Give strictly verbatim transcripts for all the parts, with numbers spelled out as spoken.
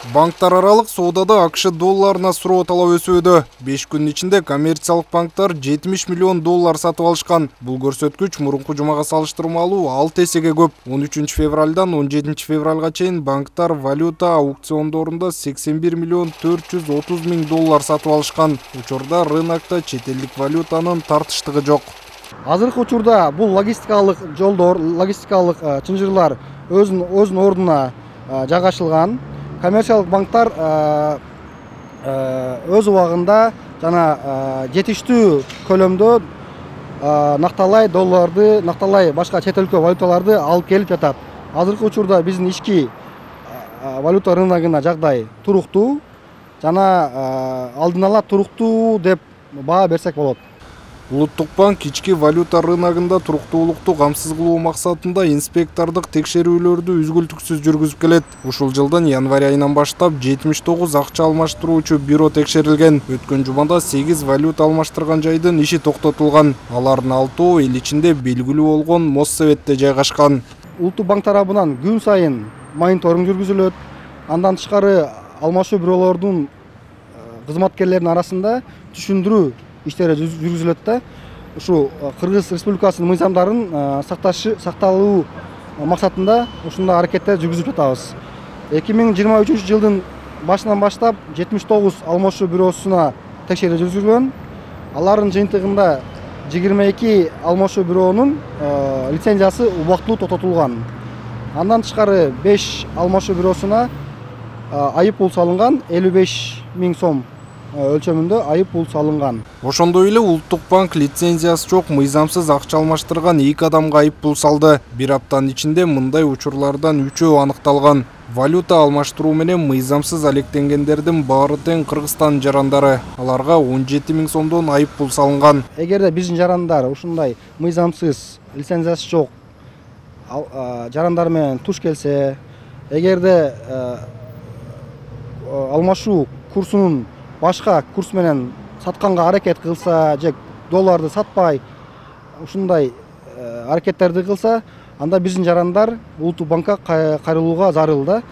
Банктар аралык соодада АКШ долларына суроо талап өсүүдө. беш күн ичинде коммерциялык банктар жетимиш миллион доллар сатып алышкан. Бул көрсөткүч мурунку жумага салыштырмалуу алты эсеге көп. он үчүнчү февралдан он жетинчи февралга чейин банктар валюта аукциондорунда сексен бир миллион төрт жүз отуз миң доллар сатып алышкан. Учурда рынокто чет элдик валютанын тартыштыгы жок. Азыркы учурда бул логистикалык жолдор, логистикалык чынжырлар өзүнүн өзүнүн ордуна жайгашылган. Коммерциялык банктар өз убагында жана жетиштүү көлөмдө накталай долларды, накталай башка чет өлкө валюталарды алып келип жатат. Азыркы учурда биздин ички валюта рыногуна жагдай туруктуу жана алдын ала туруктуу деп баа берсек болот. Улуттук банк ички валюта рыногунда туруктуулукту камсыз кылуу максатында инспектордук текшерүүлөрдү үзгүлтүксүз жүргүзүп келет. Ушул жылдын январь айынан баштап жетимиш тогуз акча алмаштыруучу бюро текшерилген. Өткөн жумада сегиз валюта алмаштырган жайдын иши токтотулган. Алардын алтоо эл ичинде белгилүү болгон Моссоветте жайгашкан. Улуттук банк тарабынан күн сайын мониторинг жүргүзүлөт. Андан тышкары алмашуу бюролордун кызматкерлеринин арасында түшүндүрүү иштери жүргүзүлөт да. Ушу Кыргыз Республикасынын мыйзамдарын сакташы сакталуу максатында ушундай аракеттер жүргүзүп жатабыз. эки миң жыйырма үчүнчү жылдын башынан баштап жетимиш тогуз алмашуу бюросуна текшерүү жүргүзүлгөн. Алардын жыйынтыгында жыйырма эки алмашуу бюронун лицензиясы убактылуу токтотулган. Андан тышкары беш алмашуу бюросуна айып пул салынган, элүү беш миң сом өлчөмүндө айып пул салынган. Ошондой эле Улуттук банк лицензиясы жок мыйзамсыз акча алмаштырган эки адамга айып пул салды. Бир аптанын ичинде мындай учурлардан үчөө аныкталган. Валюта алмаштыруу менен мыйзамсыз алектенгендердин баары тең Кыргызстан жарандары. Аларга он жети миң сомдон айып пул салынган. Эгерде биздин жарандар ушундай мыйзамсыз лицензиясы жок жарандар менен туш келсе, эгерде алмашуу курсунун башка курс менен сатканга аракет кылса, же долларды сатпай ушундай аракеттерди кылса, анда биздин жарандар Улуттук банкка кайрылууга зарыл да.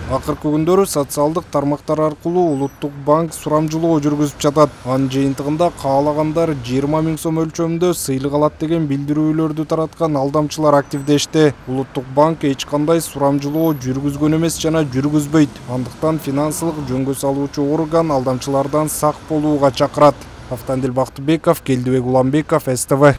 Акыркы күндөрү социалдык тармактар аркылуу Улуттук банк сурамжылоо жүргүзүп жатат. Анын жыйынтыгында каалагандар жыйырма миң сом өлчөмүндө сыйлык алат деген билдирүүлөрдү тараткан алдамчылар активдешти. Улуттук банк эч кандай сурамжылоо жүргүзгөн эмес жана жүргүзбөйт. Андыктан финансылык жөнгө салуучу орган алдамчылардан сак болууга чакырат. Автандил Бактыбеков, Келдибек Уламбеков, С Т В.